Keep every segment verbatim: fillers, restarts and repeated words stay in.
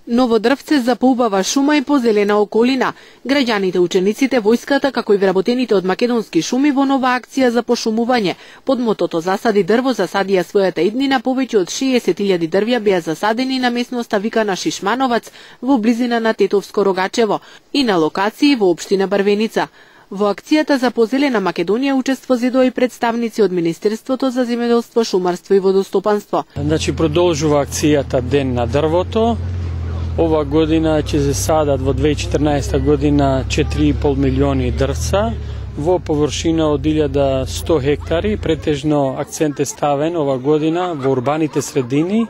Ново дрвце за поубава шума и позелена околина. Граѓаните, учениците, војската, како и вработените од македонски шуми во нова акција за пошумување. Под мотото "Засади дрво, засадија својата иднина", повеќе од шеесет илјади дрвја беа засадени на местноста викана Шишмановац во близина на Тетовско Рогачево и на локации во општина Барвеница. Во акцијата за позелена Македонија учество зедоа и представници од Министерството за земјоделство, шумарство и водостопанство. Значи продолжува акцијата Ден на дрвото. Ова година ќе се садат во две илјади и четрнаесета година четири и пол милиони дрвца во површина од илјада и сто хектари. Претежно акцент е ставен ова година во урбаните средини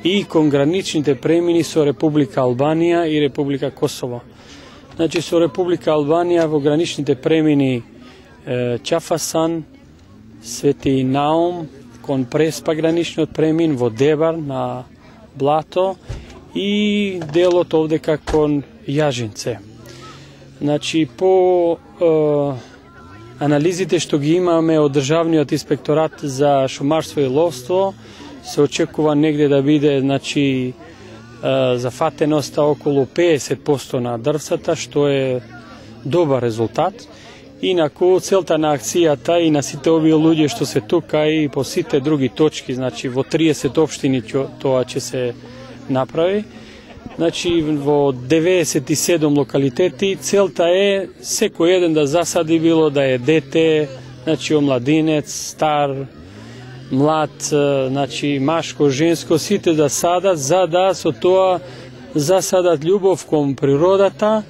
и кон граничните премини со Република Албанија и Република Косово. Значи со Република Албанија во граничните премини е, Чафасан, Свети Наум, кон Преспа граничниот премин во Дебар на Блато и делот овде кон Јажинце. Значи по е, анализите што ги имаме од Државниот инспекторат за шумарство и ловство, се очекува негде да биде, значи, зафатеноста околу педесет проценти на дрвцата, што е добар резултат. Инаку целта на акцијата и на сите овие луѓе што се тука и по сите други точки, значи во триесет општини тоа ќе се направи. Значи во деветдесет и седум локалитети целта е секој еден да засади, било да е дете, значи омладинец, стар, млад, значи машко, женско, сите да садат, за да со тоа засадат љубов кон природата,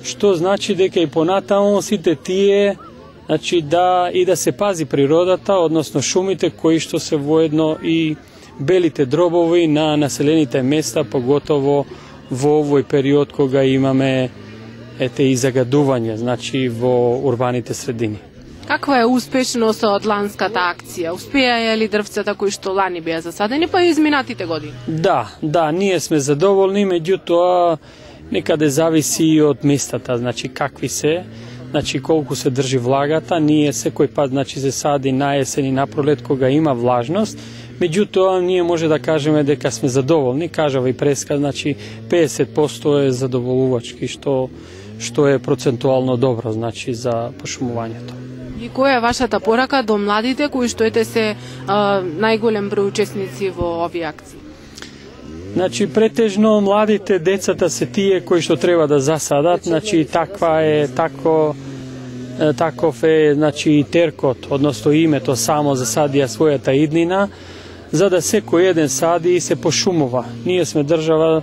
што значи дека и понатаму сите тие, значи да и да се пази природата, односно шумите кои што се воедно и белите дробови на населените места, поготово во овој период кога имаме ете и загадување, значи во урбаните средини. Каква е успешноста од ланската акција? Успеа ли дрвцата кои што лани беа засадени, па и изминатите години? Да, да, ние сме задоволни, меѓутоа некаде зависи и од местата, значи какви се, значи колку се држи влагата. Ние секој пат, значи, се сади на есен и на пролет кога има влажност, меѓутоа ние може да кажеме дека сме задоволни, кажава и Преска, значи педесет проценти е задоволувачки, што што е процентуално добро, значи, за пошумувањето. И која е вашата порака до младите кои што ете се а, најголем број учесници во овие акции? Значи претежно младите, децата се тие кои што треба да засадат, значи таква е тако таков е, значи, теркот, односно името само засадија својата иднина, за да секој еден сади и се пошумува. Ние сме држава,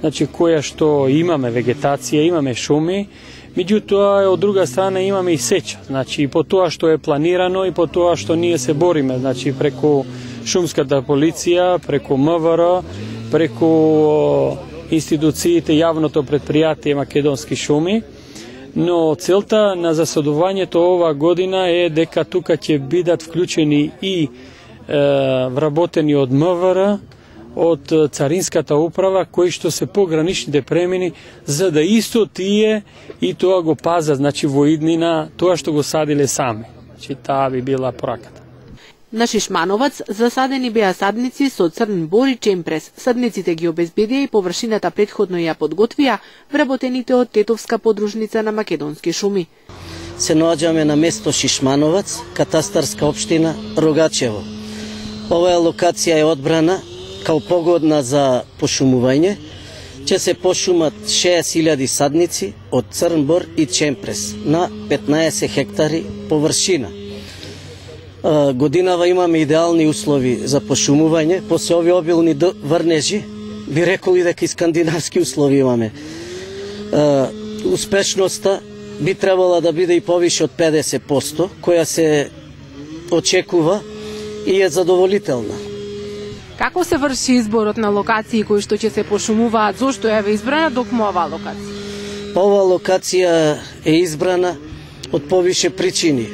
значи, која што имаме вегетација, имаме шуми, меѓутоа од друга страна имаме и сеча, значи и по тоа што е планирано и по тоа што ние се бориме, значи преку шумската полиција, преку М В Р, преку институциите, јавното предпријатие Македонски шуми. Но целта на засадувањето ова година е дека тука ќе бидат вклучени и е, вработени од М В Р, од Царинската управа, кои што се пограничните премини, за да исто тие и тоа го пазат, значи во иднина, тоа што го садиле сами. Значи таа би била пораката. На Шишмановац засадени беа садници со црн бор и чемпрес. Садниците ги обезбедија и површината претходно ја подготвија вработените од Тетовска подружница на Македонски шуми. Се наоѓаме на место Шишмановац, катастарска општина Рогачево. Оваа локација е одбрана као погодна за пошумување. Ќе се пошумат шеесет илјади садници од црн бор и чемпрес на петнаесет хектари површина. Годинава имаме идеални услови за пошумување, после овие обилни врнежи, би рекол и дека и скандинавски услови имаме. Успешноста би требала да биде и повише од педесет проценти, која се очекува и е задоволителна. Како се врши изборот на локации кои што ќе се пошумуваат? Зошто е избрана токму оваа локација? Оваа локација е избрана од повише причини.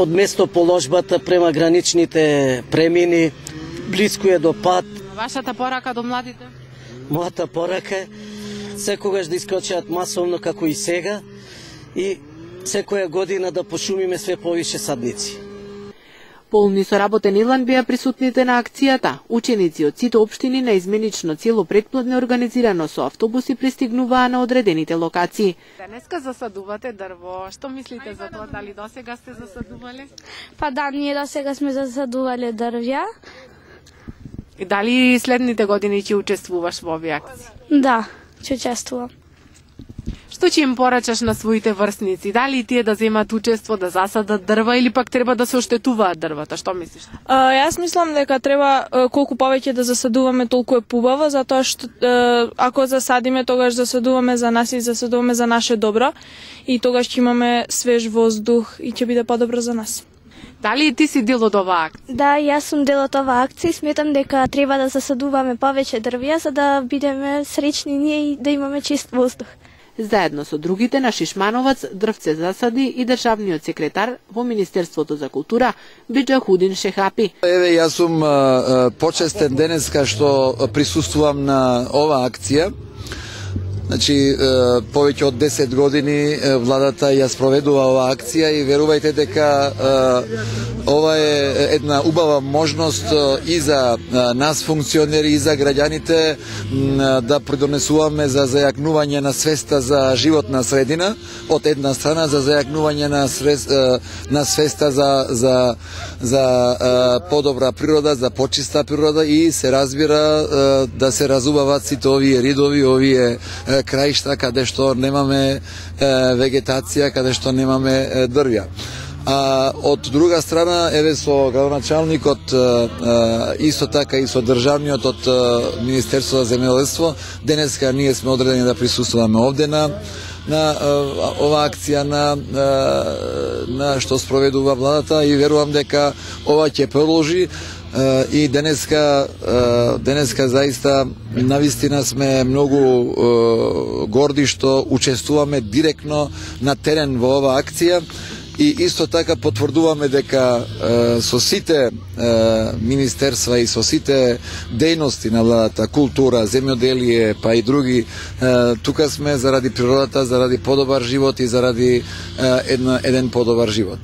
Од местоположбата према граничните премини, близко е до пат. Вашата порака до младите? Мојата порака е секогаш да искочат масовно како и сега и секоја година да пошумиме све повише садници. Полни со работен елан беа присутните на акцијата. Ученици од сите општини на изменично цело претплодне организирано со автобуси пристигнуваа на одредените локации. Денеска засадувате дрво. Што мислите за тоа? Дали досега сте засадувале? Па да, ние досега сме засадувале дрвја. И дали следните години ќе учествуваш во овие акции? Да, ќе учествувам. Што ќе им порачаш на своите врсници? Дали тие да земат учество, да засадат дрва или пак треба да се оштетуваат дрвата? Што мислиш? А, јас мислам дека треба колку повеќе да засадуваме, толку е побаво, затоа што ако засадиме, тогаш засадуваме за нас и засадуваме за наше добро и тогаш ќе имаме свеж воздух и ќе биде подобро за нас. Дали ти си дел од оваа акција? Да, јас сум дел од оваа акција и сметам дека треба да засадуваме повеќе дрвја за да бидеме среќни ние и да имаме чист воздух. Заедно со другите на Шишмановац дрвце засади и државниот секретар во Министерството за култура Биџахудин Шехапи. Еве, јас сум а, почестен денеска што присуствувам на оваа акција. Значи, повеќе од десет години владата ја спроведува оваа акција и верувајте дека ова е една убава можност и за нас функционери и за граѓаните да придонесуваме за зајакнување на свеста за животна средина од една страна, за зајакнување на, срез, на свеста за, за, за подобра природа, за почиста природа и се разбира да се разубават сите овие ридови, овие краишта каде што немаме е, вегетација, каде што немаме е, дрвја. А од друга страна, еве со градоначалникот, е, исто така и со државниот од е, Министерството за земјоделство, денеска ние сме одредени да присуствуваме овде на на ова акција на, на што спроведува владата и верувам дека ова ќе продолжи. И денеска, денеска заиста навистина сме многу горди што учествуваме директно на терен во оваа акција и исто така потврдуваме дека со сите министерства и со сите дејности на владата, култура, земјоделие, па и други, тука сме заради природата, заради подобар живот и заради една, еден подобар живот.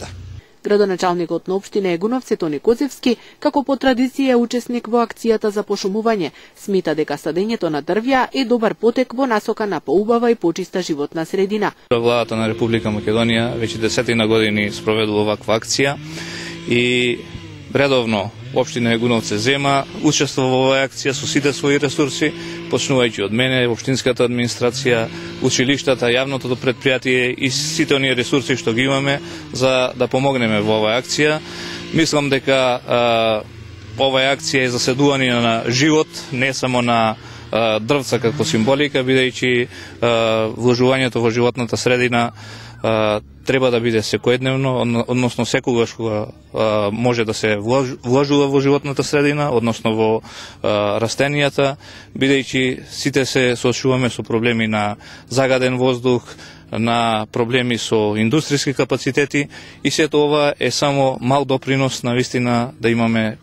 Градоначалникот на општина Егуновци Тони Козевски, како по традиција е учесник во акцијата за пошумување, смета дека садењето на дрвја е добар потек во насока на поубава и почиста животна средина. Владата на Република Македонија веќе десетина години спроведува оваква акција и редовно општина Егуновци зема учество во оваа акција со сите своји ресурси, почнувајќи од мене, општинската администрација, училиштата, јавното претпријатие и сите оние ресурси што ги имаме за да помогнеме во оваа акција. Мислам дека а, оваа акција е заседување на живот, не само на а, дрвца како символика, бидејќи вложувањето во животната средина а, треба да биде секојдневно, односно секогаш кога може да се вложува во животната средина, односно во а, растенијата, бидејќи сите се соочуваме со проблеми на загаден воздух, на проблеми со индустријски капацитети и сето ова е само мал допринос на вистина да имаме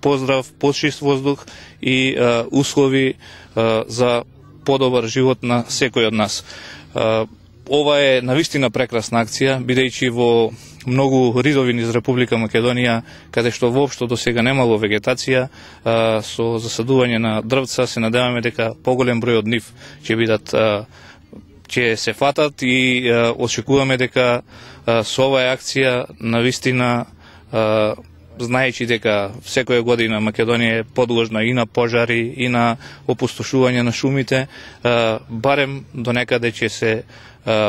поздрав, почист воздух и а, услови а, за подобар живот на секој од нас. А, Ова е навистина прекрасна акција, бидејќи во многу ридови низ Република Македонија, каде што воопшто до сега немало вегетација, а, со засадување на дрвца, се надеваме дека поголем број од нив ќе бидат а, ќе се фатат и а, очекуваме дека а, со оваа акција навистина а, знаејќи дека секоја година Македонија е подложна и на пожари и на опустошување на шумите, а, барем до некаде ќе се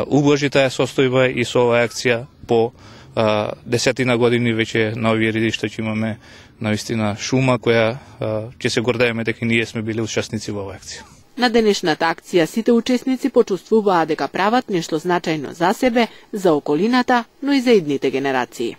убложи таа состојба и со оваа акција по а, десетина години веќе на овие ридишта ќе имаме навистина шума која а, ќе се гордееме дека ние сме били учесници во оваа акција. На денешната акција сите учесници почувствуваа дека прават нешто значајно за себе, за околината, но и за идните генерации.